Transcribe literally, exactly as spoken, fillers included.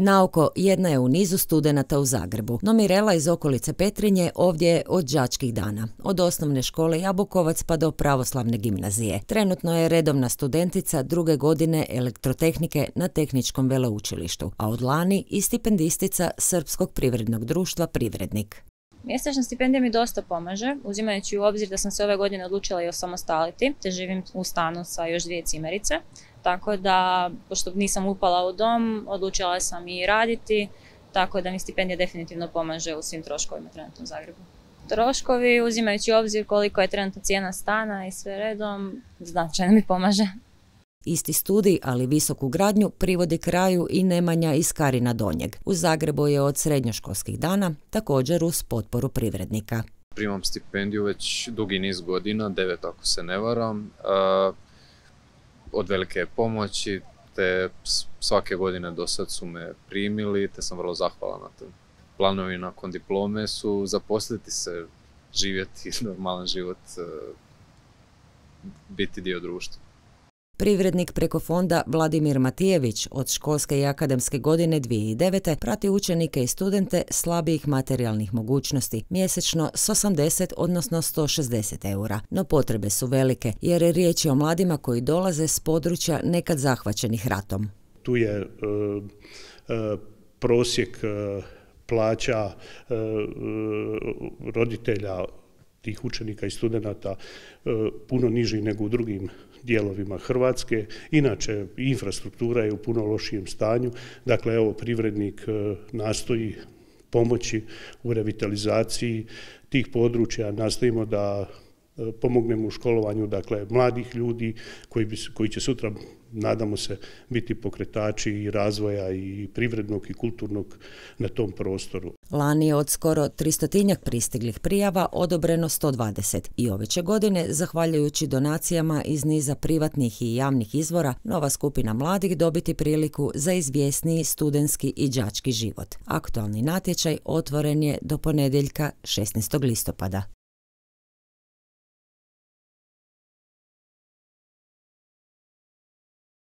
Naoko jedna je u nizu studenata u Zagrebu, no Mirela iz okolice Petrinje ovdje je od đačkih dana, od osnovne škole Jabukovac pa do pravoslavne gimnazije. Trenutno je redovna studentica druge godine elektrotehnike na Tehničkom veleučilištu, a od lani i stipendistica Srpskog privrednog društva Privrednik. Mjesečna stipendija mi dosta pomaže, uzimajući u obzir da sam se ove godine odlučila i osamostaliti, te živim u stanu sa još dvije cimerice. Tako da, pošto nisam upala u dom, odlučila sam i raditi, tako da mi stipendija definitivno pomaže u svim troškovima trenutno u Zagrebu. Troškovi, uzimajući u obzir koliko je trenutno cijena stana i sve redom, značajno mi pomaže. Isti studij, ali visoku gradnju, privodi kraju i Nemanja iz Karina Donjeg. U Zagrebu je od srednjoškolskih dana, također uz potporu Privrednika. Primam stipendiju već dugi niz godina, devet ako se ne varam, od velike pomoći, te svake godine do sad su me primili, te sam vrlo zahvalan na to. Planovi nakon diplome su zaposliti se, živjeti normalan život, biti dio društva. Privrednik preko fonda Vladimir Matijević od školske i akademske godine dvije tisuće devete prati učenike i studente slabijih materijalnih mogućnosti, mjesečno s osamdeset odnosno sto šezdeset eura. No potrebe su velike jer je riječ o mladima koji dolaze s područja nekad zahvaćenih ratom. Tu je uh, uh, prosjek uh, plaća uh, roditelja tih učenika i studenata puno niži nego u drugim dijelovima Hrvatske. Inače, infrastruktura je u puno lošijem stanju. Dakle, evo, Privrednik nastoji pomoći u revitalizaciji tih područja. Nastojimo da pomognemo u školovanju, dakle, mladih ljudi koji, bi, koji će sutra, nadamo se, biti pokretači i razvoja i privrednog i kulturnog na tom prostoru. Lani je od skoro tristotinjak pristiglih prijava odobreno sto dvadeset i ove će godine, zahvaljujući donacijama iz niza privatnih i javnih izvora, nova skupina mladih dobiti priliku za izvjesniji studentski i đački život. Aktualni natječaj otvoren je do ponedjeljka šesnaestog listopada.